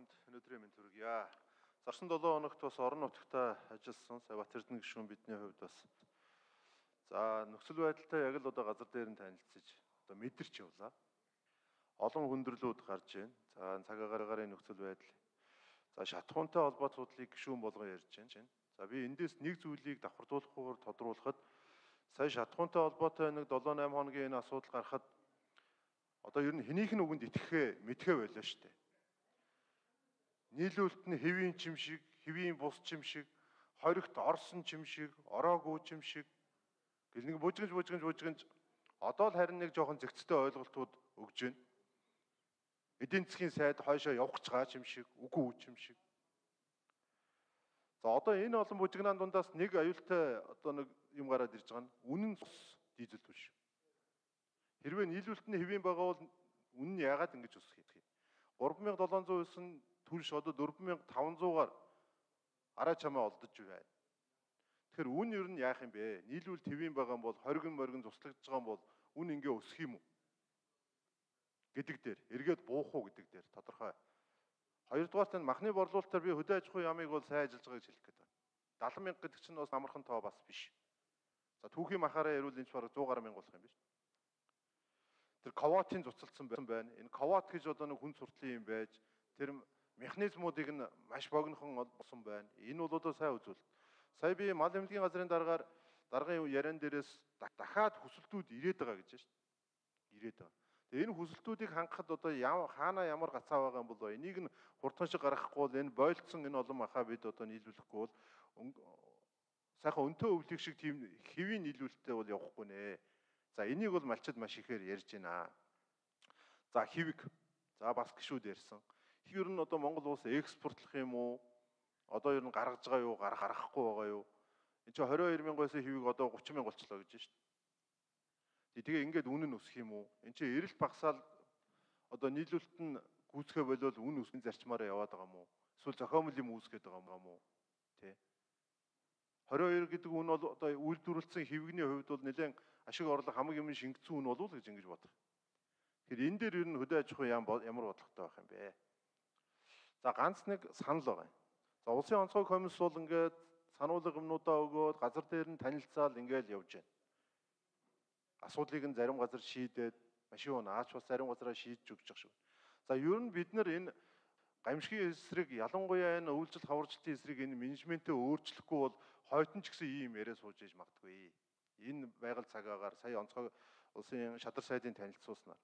бүхэнд өнөөдрийн мэнд хүргье. Зарсан 7 хоногт бас орон нутгатаа ажилласан сая Бат Эрдэнэ гишүүн бидний хувьд бас за нөхцөл байдалтай яг л одоо газар дээр нь танилцж одоо мэдэрч явлаа. Олон хүндрэлүүд гарч байна. За цаг агарын нөхцөл байдал. За шатхуунтай холбоотлыг гишүүн болгон ярьж байна. За би эндээс нэг зүйлийг давхардуулахгүйгээр тодруулахад сая шатхуунтай холбоотой нэг 7-8 хоногийн энэ асуудал гарахад одоо ер нь хэнийх нь үгэнд итгэхээ мэдхээ байлаа шүү дээ. Нийлүүлэлт нь хэвийн чим шиг, хэвийн бус чим шиг, хоригт орсон чим шиг, ороогүй чим шиг гэл нэг бужигж одоо л харин нэг жоохон зэгцтэй ойлголтууд өгж байна. Эдийн засгийн сайд хойшоо явах гэж байгаа чим шиг, үгүй чим шиг. За одоо энэ олон бужигнаан дундаас нэг аюултай одоо нэг юм гараад ирж байгаа нь үнэн цус дизель биш. Хэрвээ нийлүүлэлт нь хэвийн байгаа бол үнэн нь яагаад ингэж өсөх юм? 3709 түнш одоо 4500-аар араа чамаа олдож байна. Тэгэхээр үн ер нь яах юм бэ? Нийлүүлэлт хэвийн байгаа бол хоригн моргин туслагдж байгаа бол үн ингээ өсөх юм уу? Гэдэг дээр эргээд буух уу гэдэг дээр тодорхой. Хоёрдугаарт нь махны борлуулалтаар би хөдөө аж ахуйн яамыг бол сайн ажиллаж байгааг хэлэх гээд байна. 70,000 гэдэг чинь бас амархан тоо бас биш. За түүхийн махаараа ярил энэ ч бараг 100 гаруй мянга болох юм биш. Тэр ковотын цуцалдсан байна. Энэ ковот гэж одоо нэг хүн суртлын юм байж тэр механизмуудыг нь маш богинохон болсон байна. Энэ бол одоо сайн үзүүлэлт. Сая би мал эмнэлгийн газрын даргын яриан дээрээс дахиад хүсэлтүүд ирээд байгаа гэж байна шүү дээ. Ирээд байгаа. Тэгээ энэ хүсэлтүүдийг хангахад одоо хаана ямар гацаа байгаа юм бол энийг нь хурдхан шиг гаргахгүй бол энэ бойлцсон энэ олон махаа бид одоо нийлүүлэхгүй бол сайхан өнтөө өвлийг шиг тийм хэвийн нийлүүлэлттэй бол явахгүй нэ. За энийг бол малчид маш ихээр ярьж байна. За хэвэг. За бас гişүүд ярьсан. Ер нь одоо Монгол улс экспортлох юм уу? Одоо ер нь гаргаж байгаа юу? Гаргахгүй байгаа юу? Энд чинь 22,000-аас хэвэг одоо 30,000 болчлоо гэж байна шүү дээ. Тэгээ ингээд үнэ нь өсөх юм уу? Энд чинь эрэлт багсаал одоо нийлүүлэлт нь гүйцэхэ болол үн өсгөн зарчмаараа яваад байгаа юм уу? Эсвэл зохиомл юм үүсгээд байгаа юм уу? Тэ. 22 гэдэг үн бол одоо үйлдвэрлэсэн хэвгний хувьд бол нэлээд ашиг орлого хамаг юм шингэсэн үн болов уу гэж ингэж бодох. Тэгэхээр энэ дээр ер нь хөдөө аж ахуй ямар бодлоготой байх юм бэ? За ганц нэг санал байгаа. За улсын онцгой комисс бол ингээд сануулга юмнуудаа өгөөд газар дээр нь танилцаал ингээд явж байна. Асуудлыг нь зарим газар шийдээд машин унаач бас зарим газараа шийдэж өгч байгаа шүү. За ер нь бид нар энэ гамшигын эсрэг ялангуяа энэ үйлчлэл хаварчлалтын эсрэг энэ менежментээ өөрчлөхгүй бол хойтон ч гэсэн ийм яриа сууж иж магадгүй. Энэ байгаль цагаагаар сая онцгой улсын шадар сайдын танилцуулснаар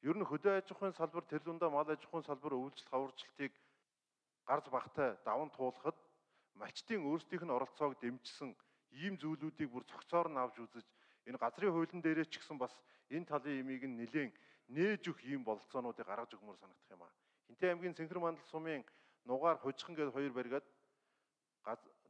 ер нь хөдөө аж ахуйн салбар тэр дундаа мал аж ахуйн салбар үйлчлэл хаварчлалтыг гарц багтай даван туулахад малчдын өөрсдийнх нь оролцоог дэмжсэн ийм зүйлүүдийг бүр цогцоор нь авч үзэж энэ газрын хуулийн дээрээ ч гэсэн бас энэ талын имийг нь нэлээд нээж өгөх ийм бололцоонуудыг гаргаж өгмөр санагдах юм аа. Хинтээ аймгийн Цэнхэр мандал сумын нугаар хожихон гээд хоёр баригад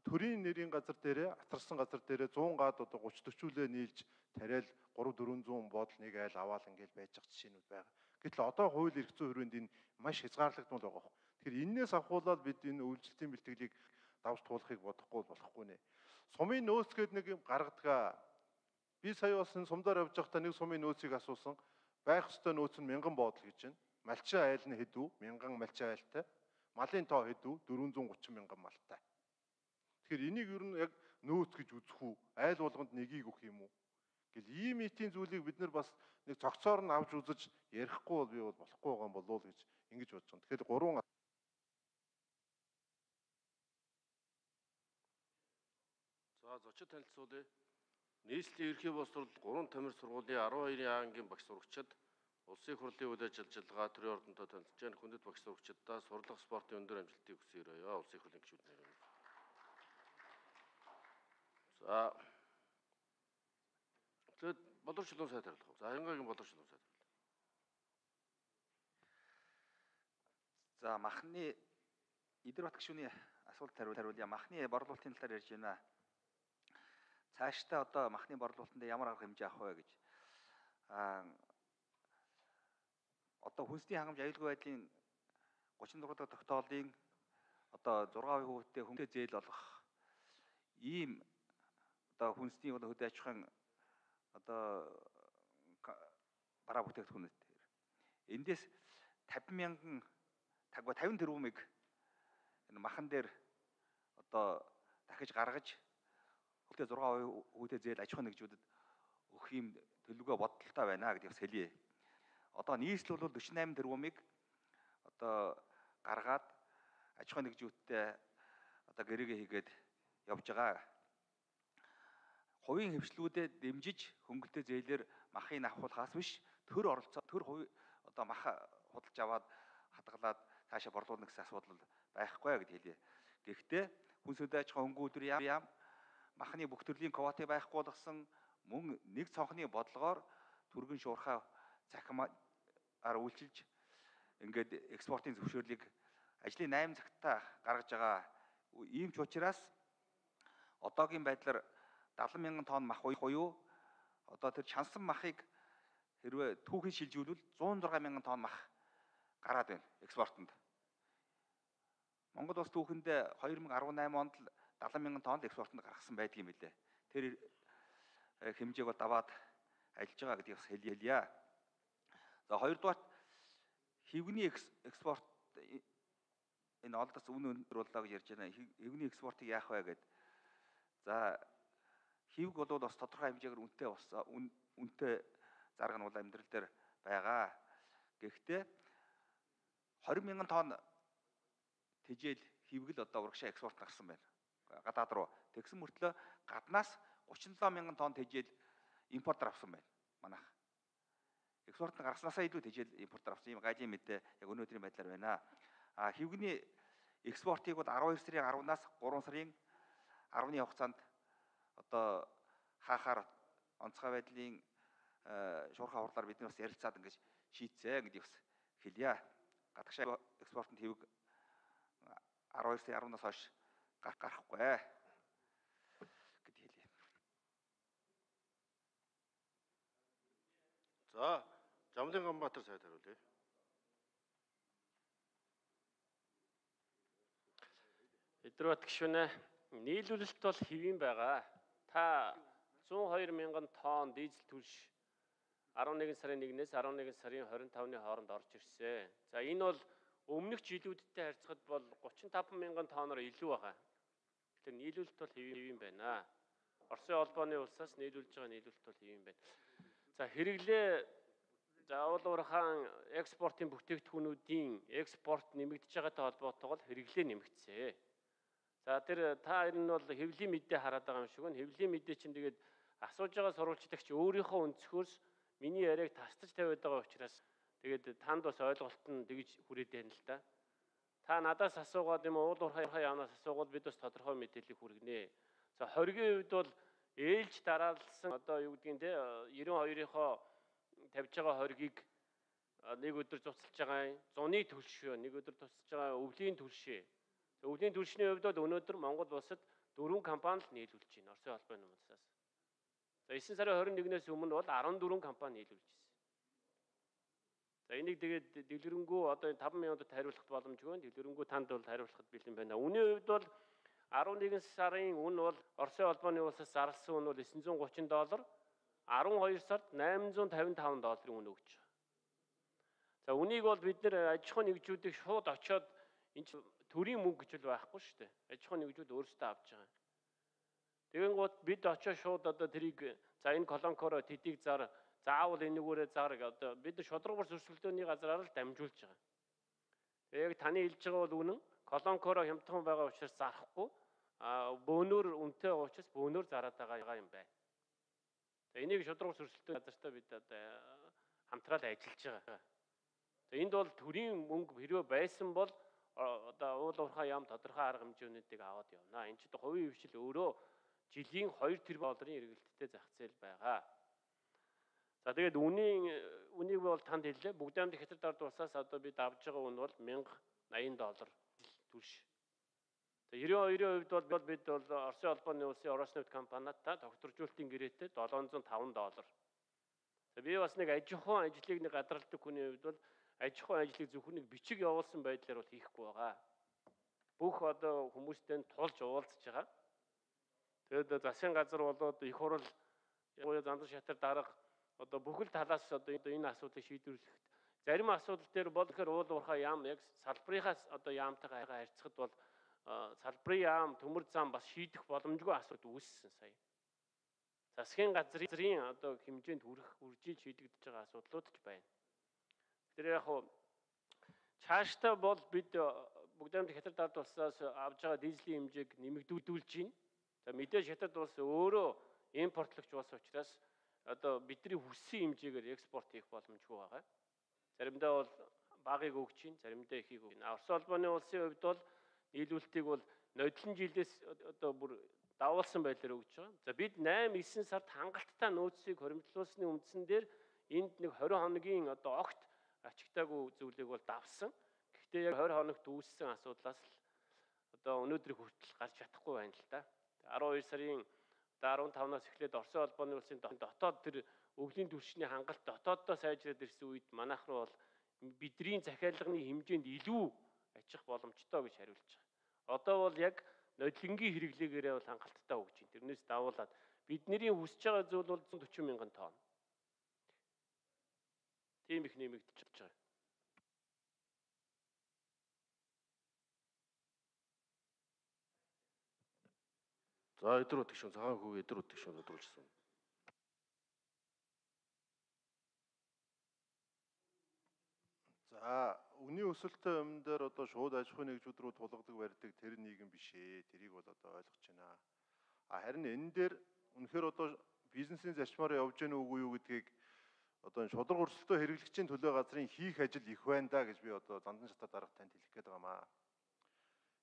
төрийн нэрийн газар дээрээ атарсан газар дээрээ 100 гаад одоо 30-40-үлээ нийлж тариал 300-400 бодол нэг айл аваал ингээл байж байгаа жишээнүүд байгаа. Гэтэл одоо хууль эрх зүйн хүрээнд энэ маш хязгаарлагдмал байгаа. Тэгэхээр энээс авахуулаад бид энэ үйлчлэлтийн бэлтгэлийг давж туулахыг болохгүй нэ. Сумын нөөц гээд нэг юм гаргадаг. Би сая бас энэ сумдаар явж байхдаа нэг сумын нөөцийг асуусан. Байх ёстой нөөц нь 1000 бодол гэж байна. Малчин айл нь хэдүү? 1000 малчин айлтай. Малын тоо хэдүү? 430 мянган малтай. Тэгэхээр энийг ер нь яг нөөц гэж үзэх үү? Айл болгонд нэгийг өгөх юм уу? Гэл ийм итийн зүйлийг бид нар бас нэг цогцоор нь авч үзэж ярихгүй бол би бол болохгүй байгаа юм болов уу гэж ингэж бодож байна. Тэгэхээр 3 За зочид танилцуулъя. Нийслэлийн ерхий боловсрол 3 тамир сургуулийн 12 ангийн багш сурагчид улсын хурлын үйл ажиллагаа төрийн ордонтой танилцж байна. Хүндэт багш сурагчдаа сурлах спортын өндөр амжилтыг хүсье. Улсын хурлын гишүүд нэр. За тэгээд боловсролын сайд хариулах. За Янгагийн боловсролын сайд хариулах. За махны Идэрбат гишүүний асуулт хариулъя. Махны борлуулалтын талаар ярьж байна. Цаашдаа одоо махны борлуулалтанд ямар арга хэмжээ авах вэ гэж. Одоо хүнсний хангамж аюулгүй байдлын 36 дахь тогтоолын одоо 6%-тэй хүнсээ зээл олох ийм одоо хүнсний хөдөө аж ахуйн одоо бараа бүтээгдэхүүнүүд. Эндээс 50,000 тагва 50 тэрбумыг энэ махан дээр одоо дахиж гаргаж хөлтэй 6% хүүтэй зээл аж ахуйн нэгжүүдэд өгөх юм төлөвлөгөө бодолтой байна гэдгийг хэлье. Одоо нийслэл бол 48 тэрбумыг одоо гаргаад аж ахуйн нэгжүүдтэй одоо гэрээгээ хийгээд явж байгаа. Хувийн хвшлүүдэд дэмжиж хөнгөлтэй зээлээр махыг авахулахаас биш төр оролцоо төр хувь одоо мах худалж аваад хадгалаад цаашаа борлуулна гэсэн асуудал байхгүй гэдгийг хэлье. Гэхдээ хүн сүнс аж ахуйн хөнгөн өдрийн яам махны бүх төрлийн квотыг байхгүй болгосон мөн нэг цонхны бодлогоор түргэн шуурхай захимаар үйлчилж ингээд экспортын зөвшөөрлийг ажлын 8 цагтаа гаргаж байгаа. Ийм ч учраас одоогийн байдлаар 70 мянган тонн мах буюу одоо тэр чансан махыг хэрвээ түүхий шилжүүлвэл 106 мянган тонн мах гараад байна экспортод. Монгол улс түүхэндээ 2018 онд л 70 мянган тонн экспортод гаргасан байдаг юм билээ. Тэр хэмжээг бол даваад ажиллаж байгаа гэдгийг бас хэлье. За хоёрдугаар хивгний экспорт энэ олдоц үн өндөр боллоо гэж ярьж байна. Хивгний экспортыг яах вэ гэд. За хивг бол бас тодорхой хэмжээгээр үнэтэй зарга нь бол амьдрал дээр байгаа. Гэхдээ 20 мянган тонн тэжээл хивгэл одоо урагшаа экспорт гарсан байна. Гадаад руу. Тэгсэн мөртлөө гаднаас 37 мянган тонн тэжээл импортоор авсан байна. Манайх. Экспорт нь гарснаасаа илүү тэжээл импортоор авсан юм гайжийн мэдээ яг өнөөдрийн байдлаар байна. Хивгний экспортыг бол 12 сарын 10-наас 3 сарын 10-ны хугацаанд одоо хаахаар онцгой байдлын шуурхай хурлаар бид бас ярилцаад ингэж шийдсэ гэдгийг бас хэлье. Гадагшаа экспортод хивг 12 сарын 10-наас хойш гарахгүй гэдгийг хэлье. За, Жамлын Ганбаатар сайд хариулъя. Эдрбат гишүүнэ, нийлүүлэлт бол хэвэн байгаа. Та 102 мянган тонн дизель түлш 11 сарын 1-ээс 11 сарын 25-ны хооронд орж ирсэн. За энэ бол өмнөх жилүүдтэй харьцахад бол 35 мянган тонноор илүү байгаа. Тэгэхээр нийлүүлэлт бол хэвэн байна. Оросын холбооны улсаас нийлүүлж байгаа нийлүүлэлт бол хэвэн байна. За хэрэглээ заавал уурхаан экспортын бүтээгдэхүүнүүдийн экспорт нэмэгдэж байгаатай холбоотойгоор хэрэглээ нэмэгдсэн. За тэр та энэ нь бол хэвлийн мэдээ хараад байгаа юм шиг байна. Хэвлийн мэдээ чинь тэгээд асууж байгаа сурвалжлагч өөрийнхөө өнцгөөс миний яриаг тасдаж тавиад байгаа учраас тэгээд танд бас ойлголт нь тэгж хүрээд байна л да. Та надаас асуугаад юм уул уурхай яанаас асуугаад бид бас тодорхой мэдээлэл хүргэнэ. За хоргийн үед бол ээлж дараалсан одоо юу гэдгийг те 92-ийнхоо тавьж байгаа хоргийг нэг өдөр цуцалж байгаа зуны төлшөө, нэг өдөр цуцалж байгаа өвлийн төлшөө. Өвлийн төлшний хувьд бол өнөөдөр Монгол улсад 4 компани л нийлүүлж байна Оросын холбооны улсаас. За 9 сарын 21-ээс өмнө бол 14 компани нийлүүлж байна. За энийг тэгээд дэлгэрэнгүй одоо 5 минутад хариулах боломжгүй. Дэлгэрэнгүй танд бол хариулахад бэлэн байна. Үнийн хувьд бол 11 сарын үн бол Оросын холбооны улсаас зарласан үн бол $930, 12 сард $855 үн өгч байгаа. За үнийг бол бид нэр аж ахуйн нэгжүүдийг шууд очиод энэ төрийн мөнгө гэж л байхгүй шүү дээ. Аж ахуйн нэгжүүд өөрсдөө авч байгаа. Тэгэнгუთ бид очиод шууд одоо тэрийг за энэ колонкоро тэдийг зар заавал энэгүүрээ зар одоо бид шудраг бус өрсөлдөөний газраар л дамжуулж байгаа. Яг таны хэлж байгаа бол үнэн. Колонкоро хямдхан байгаа учраас зарахгүй. Бөөнөр үнэтэй байгаа учраас бөөнөр зараад байгаа юм байна. За энийг шудраг бус өрсөлдөөний газартаа бид одоо хамтраад ажиллаж байгаа. За энд бол төрийн мөнгө хэрвээ байсан бол одоо уул уурхай яам тодорхой арга хэмжээнүүдийг аваад явна. Энд чинь хувийн хвшил өөрөө жилийн 2 тэрбум долларын эргэлттэй зах зээл байгаа. За тэгээд үнийг бол танд хэллээ. Бүгдээр хятад ард улсаас одоо бид авж байгаа үн бол $1080 түлш. За 92-ийн хувьд бол бид бол Оросын холбооны улсын Ороснефть компанитай докторжуулалтын гэрээтэй $705. За би бас нэг аж ахуйн ажлыг нэг гадралдаг хүний хувьд бол аж ахуйн ажлыг зөвхөн нэг бичиг явуулсан байдлаар бол хийхгүй байгаа. Бүх одоо хүмүүстэй тулж уулзж байгаа. Тэгээд засгийн газар болоод их хурал зандар шатар дарга одоо бүхэл талаас одоо энэ асуудлыг шийдвэрлэхэд Зарим асуудал дээр бол тэгэхээр уул уурхай яам яг салбарынхаас одоо яамтайгаа харьцахад бол салбарын яам төмөр зам бас шийдэх боломжгүй асуудал үүссэн сая. Засгийн газрын одоо хэмжээнд хүржиж шийдэгдэж байгаа асуудлууд ч байна. Тэр яг хуу цаашдаа бол бид бүгд хятад ард улсаас авж байгаа дизелийн хэмжээг нэмэгдүүлж байна. За мэдээж хятад улс өөрөө импортлогч улс учраас одоо бидний хүссэн хэмжээгээр экспорт хийх боломжгүй байгаа. Заримдаа бол багыг өгч чинь, заримдаа ихийг өгнө. Орос улбаны улсын хувьд бол нийлүүлэлтийг бол нодлон жилээс одоо бүр давуулсан байдлаар өгч байгаа. За бид 8-9 сард хангалттай нөөцийг хоримтлуулсны үндсэн дээр энд нэг 20 хоногийн одоо огт ачигтаагүй зүйлийг бол давсан. Гэхдээ яг 20 хоногт үүссэн асуудлаас л одоо өнөөдрийг хүртэл гарч чадахгүй байна л да. 12 сарын 15-наас эхлээд Орос улбаны улсын дотоод тэр өвлийн түвшний хангалт дотооддоо сайжраад ирсэн үед манайх руу бол бидний захиалганы хэмжээнд илүү ачих боломжтой гэж хариулж байгаа. Одоо бол яг нодлонгийн хэрэглээгээрээ бол хангалттай өгч байна. Тэрнээс давуулаад бидний хүсэж байгаа зүйл бол 140 мянган тонн. Тийм их нэмэгдэж байгаа. За эдэр утгшин цагаан хүү эдэр утгшин өдрүүлсэн. За үнийн өсөлттэй өмнө дээр одоо шууд аж ахуйн нэгжүүд рүү тулгадаг барьдаг тэр нийгэм биш ээ. Тэрийг бол одоо ойлгож байна. Харин энэ дээр үнэхээр одоо бизнесийн зарчмаар явж гэнэ үгүй юу гэдгийг одоо шудраг өрсөлдөө хэрэглэгчийн төлөө газрын хийх ажил их байна да гэж би одоо зандан шатаа дарга танд хэлэх гээд байгаамаа.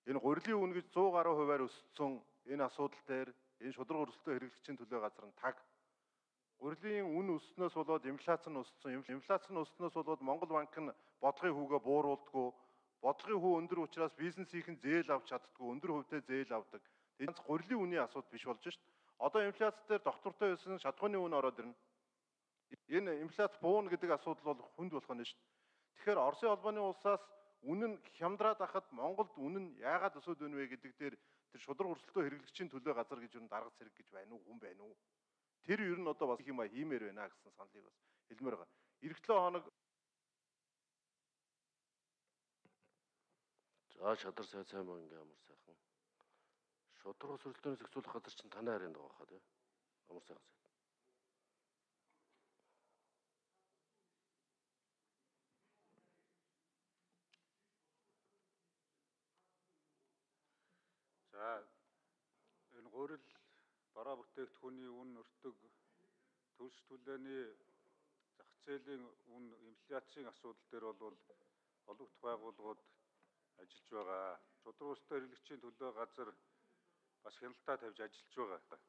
Энэ гурилын үн гэж 100 гаруй хувиар өссөн энэ асуудал дээр энэ шудраг өрсөлдөө хэрэглэгчийн төлөө газар нь таг. Гурилын үн өснөөс болоод инфляц нь өссөн. Инфляц нь өснөөс болоод Монгол банк нь бодлогын хүүгээ бууруулдаггүй. Бодлогын хүү өндөр учраас бизнесийнхэн зээл авч чаддаггүй. Өндөр хувьтай зээл авдаг. Энэ гурилын үнийн асуудал биш болж шít. Одоо инфляц дээр доктортой байсан шатхууны үн ороод ирнэ. Энэ инфляц бууна гэдэг асуудал бол хүнд болох нь шít. Тэгэхээр Оросын холбооны улсаас үнэн хямдраад ахад Монголд үнэн яагаад өсөд байна вэ гэдэг дээр тэр шудраг өрсөлдөө хэрэглэгчийн төлөө газар гэж юу дарга цэрэг гэж байна уу, хүн байна уу? Тэр ер нь одоо бас их юм хиймээр байна гэсэн саналыг бас хэлмээр байгаа. Ирэх 7 хоног За шадар сайн мөнгө амар сайхан. Шудраг өрсөлдөөнөөс зохицуулах газар чинь танай харин байгаа хаа тий. Амар сайхан. За энэ гурил бараа бүтээгдэхүүний үн өртөг төлс түлээний зах зээлийн үн инфляцийн асуудал дээр бол олонх байгууллагууд ажиллаж байгаа. Шудраг өрсөлдөө хэрэглэгчийн төлөө газар бас хяналтаа тавьж ажиллаж байгаа.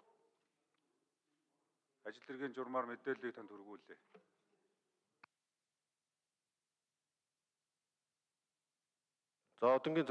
Ажил хэргийн журмаар мэдээллийг танд хүргүүлээ. За одонгийн